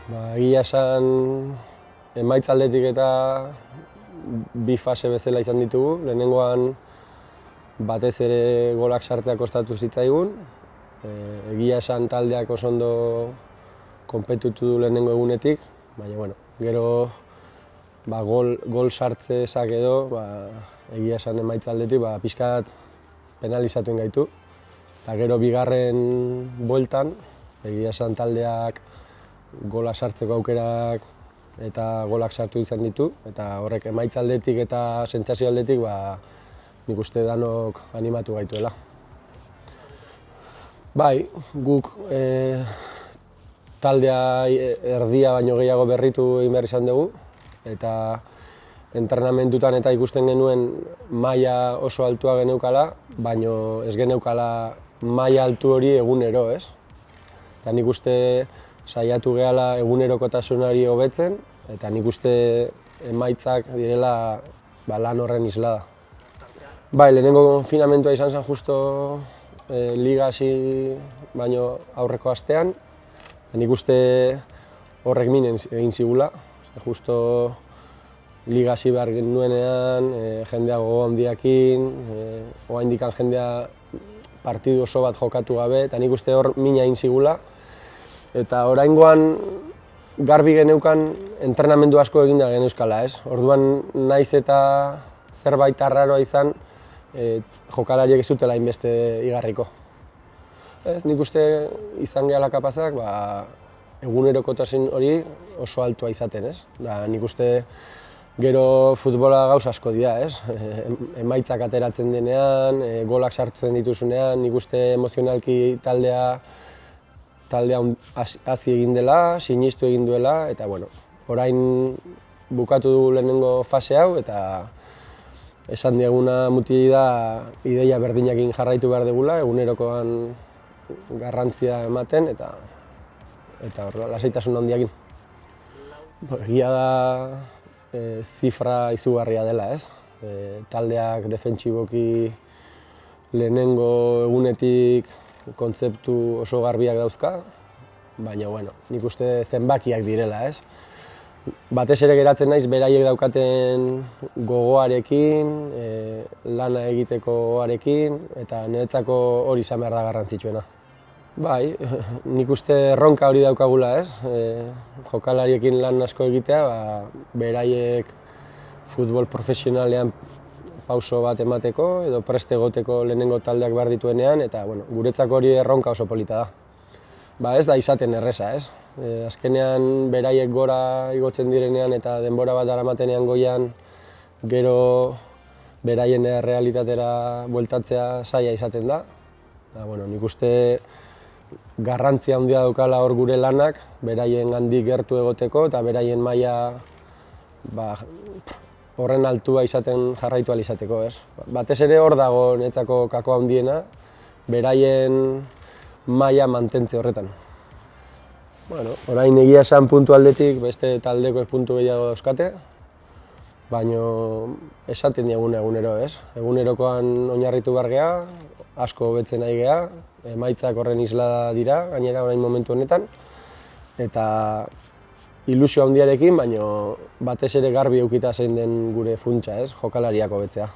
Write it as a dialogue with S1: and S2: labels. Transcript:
S1: Egia esan, emaitza aldetik eta bi fase bezala izan ditugu. Lehenengoan batez ere golak sartzea kostatu zitzaigun. Egia esan taldeak oso ondo konpetutu du lehenengo egunetik, baina gero gol sartzezak edo egia esan emaitza aldetik pixkat penalizatu gaitu. Eta gero bigarren bueltan, egia esan taldeak gola sartzeko aukerak eta golak sartu izan ditu, eta horrek emaitza aldetik eta sentsazio aldetik nik uste danok animatu gaituela. Bai, guk taldea erdia baino gehiago berritu egin behar izan dugu, eta entrenamendutan eta ikusten genuen maila oso altua geneukala, baino ez geneukala maila altu hori egunero, ez? Eta nik uste saiatu gehala egunerokotasunari hobetzen, eta nik uste emaitzak direla lan horren islada. Bai, lehenengo konfinamentua izan zen justo liga hasi baino aurreko astean, nik uste horrek min egin zigula, justo liga hasi behar genuenean, jendea gogo handiakin, oraindik jendea partidu oso bat jokatu gabe, eta nik uste hor mina egin zigula. Eta oraingoan garbi geneukan entrenamendu asko eginda geneuzkala, ez? Orduan naiz eta zerbait arraroa izan, jokalariek ez zutela hainbeste igarriko. Nik uste izan gehala kapazak egunerokotasun hori oso altua izaten, ez? Nik uste gero futbola gauza asko dira, ez? Emaitzak ateratzen denean, golak sartzen dituzunean, nik uste emozionalki taldea hazi egin dela, sinistu egin duela, eta orain bukatu dugu lehenengo fase hau, eta esan dieguna mutili da ideia berdinakin jarraitu behar dugula, egunerokoan garrantzia ematen, eta lasaitasun handiakin. Egia da zifra izugarria dela, ez? Taldeak defentsiboki lehenengo egunetik kontzeptu oso garbiak dauzka, baina nik uste zenbakiak direla, ez? Batez ere geratzen naiz beraiek daukaten gogoarekin, lana egitekoarekin, eta niretzako hori izan behar da garrantzitsuena. Bai, nik uste erronka hori daukagula, ez? Jokalariekin lan asko egitea, beraiek futbol profesionalean pauso bat emateko edo preste egoteko lehenengo taldeak behar dituenean, eta guretzako hori erronka oso polita da. Ez da izaten erreza, ez? Azkenean beraiek gora igotzen direnean eta denbora bat daramatenean goian, gero beraien errealitatera bueltatzea zaila izaten da. Nik uste garrantzia handia daukala hor gure lanak, beraien gandik gertu egoteko eta beraien maila horren altua izaten jarraitu ahal izateko, ez? Batez ere hor dago niretzako kako handiena, beraien maila mantentze horretan. Orain egia esan puntu aldetik beste taldeko puntu gehiago dauzkate, baina esaten diaguna egunero, ez? Egunerokoan oinarritu behar geha, asko hobetzen nahi geha, emaitzak horren islada dira, gainera orain momentu honetan, eta ilusio handiarekin, baina batez ere garbi edukita zein den gure funtsa, ez? Jokalariak hobetzea.